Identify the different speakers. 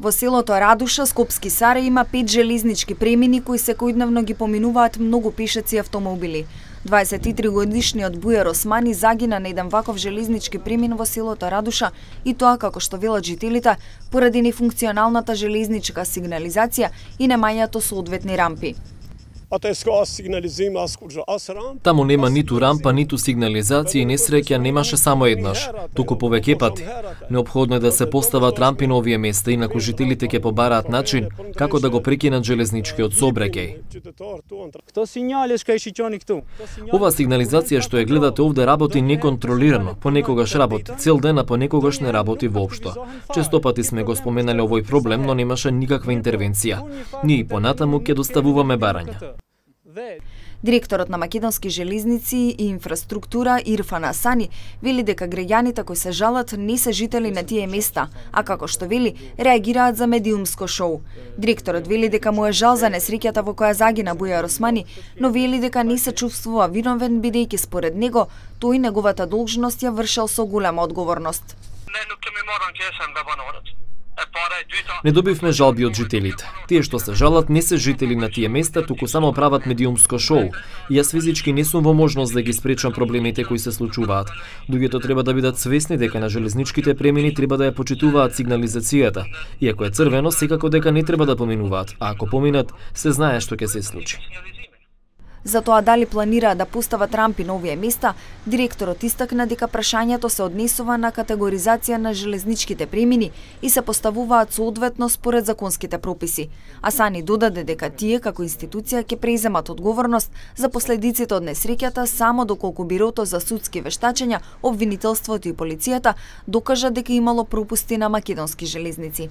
Speaker 1: Во селото Радуша, Скопски Саре, има 5 железнички премини кои секојдневно ги поминуваат многу пешаци и автомобили. 23-годишниот Бујар Османи загина на еден ваков железнички премин во селото Радуша, и тоа, како што велат жителите, поради нефункционалната железничка сигнализација и немањето соодветни рампи.
Speaker 2: Таму нема ниту рампа, ниту сигнализација и несреќа немаше само еднаш, туку повеќе пати. Неопходно е да се постават рампи на овие места, инаку жителите ќе побараат начин како да го прекинат железничкиот сообраќај. Ова сигнализација што ја гледате овде работи неконтролирано, понекогаш работи цел ден, а понекогаш не работи воопшто. Често пати сме го споменале овој проблем, но немаше никаква интервенција. Ние и понатаму ќе доставуваме барања.
Speaker 1: Директорот на Македонски железници и инфраструктура Ирфан Асани вели дека граѓаните кои се жалат не се жители на тие места, а како што вели, реагираат за медиумско шоу. Директорот вели дека му е жал за несреќата во која загина Бујар Османи, но вели дека не се чувствува виновен бидејќи според него тој неговата должност ја вршел со голема одговорност.
Speaker 2: Не добивме жалби од жителите. Тие што се жалат не се жители на тие места, туку само прават медиумско шоу. И јас физички не сум во можност да ги спречам проблемите кои се случуваат. Луѓето треба да бидат свесни дека на железничките премини треба да ја почитуваат сигнализацијата. И ако е црвено, секако дека не треба да поминуваат, а ако поминат, се знае што ќе се случи.
Speaker 1: За тоа дали планираат да постават рампи на овие места, директорот истакна дека прашањето се однесува на категоризација на железничките премини и се поставуваат соодветно според законските прописи. Асани додаде дека тие како институција ќе преземат одговорност за последиците од несреќата само доколку Бирото за судски вештачења, обвинителството и полицијата докажат дека имало пропусти на Македонски железници.